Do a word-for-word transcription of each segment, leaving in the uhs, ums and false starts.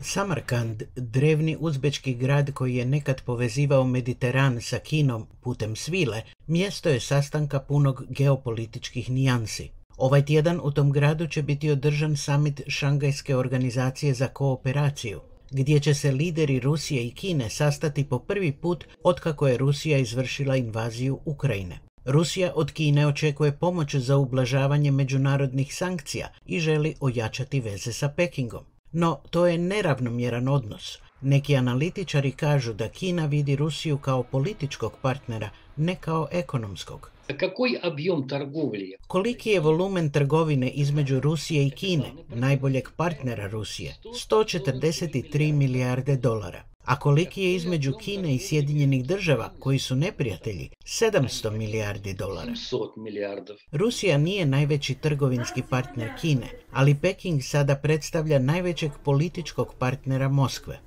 Samarkand, drevni uzbečki grad koji je nekad povezivao Mediteran sa Kinom putem svile, mjesto je sastanka punog geopolitičkih nijansi. Ovaj tjedan u tom gradu će biti održan summit Šangajske organizacije za kooperaciju, gdje će se lideri Rusije i Kine sastati po prvi put otkako je Rusija izvršila invaziju Ukrajine. Rusija od Kine očekuje pomoć za ublažavanje međunarodnih sankcija i želi ojačati veze sa Pekingom. No, to je neravnomjeran odnos. Neki analitičari kažu da Kina vidi Rusiju kao političkog partnera, ne kao ekonomskog. Koliki je volumen trgovine između Rusije i Kine, najboljeg partnera Rusije? sto četrdeset tri milijarde dolara. A koliki je između Kine i Sjedinjenih država, koji su neprijatelji? sedamsto milijardi dolara. Rusija nije najveći trgovinski partner Kine, ali Peking sada predstavlja najvećeg političkog partnera Moskve.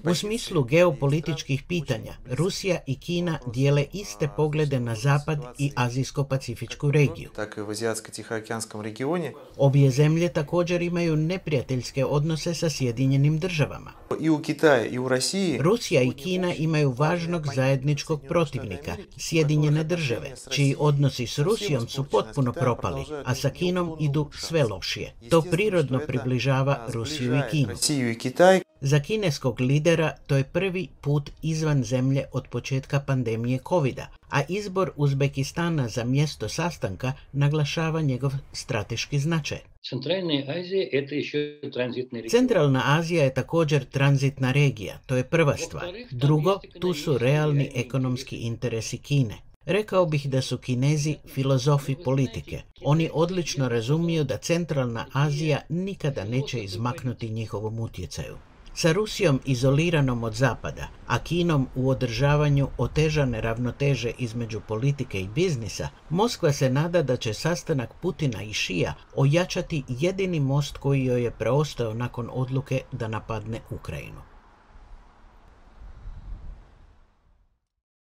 U smislu geopolitičkih pitanja, Rusija i Kina dijele iste poglede na Zapad i Azijsko-pacifičku regiju. Obje zemlje također imaju neprijateljske odnose sa Sjedinjenim državama. Rusija i Kina imaju važnog zajedničkog protivnika, Sjedinjene države, čiji odnosi s Rusijom su potpuno propali, a sa Kinom idu sve lošije. To prirodno približava Rusiju i Kinu. Za kineskog lidera to je prvi put izvan zemlje od početka pandemije kovida, a izbor Uzbekistana za mjesto sastanka naglašava njegov strateški značaj. Centralna Azija je također tranzitna regija, to je prva stvar. Drugo, tu su realni ekonomski interesi Kine. Rekao bih da su Kinezi filozofi politike. Oni odlično razumiju da Centralna Azija nikada neće izmaknuti njihovom utjecaju. Sa Rusijom izoliranom od Zapada, a Kinom u održavanju otežane ravnoteže između politike i biznisa, Moskva se nada da će sastanak Putina i Šija ojačati jedini most koji joj je preostao nakon odluke da napadne Ukrajinu.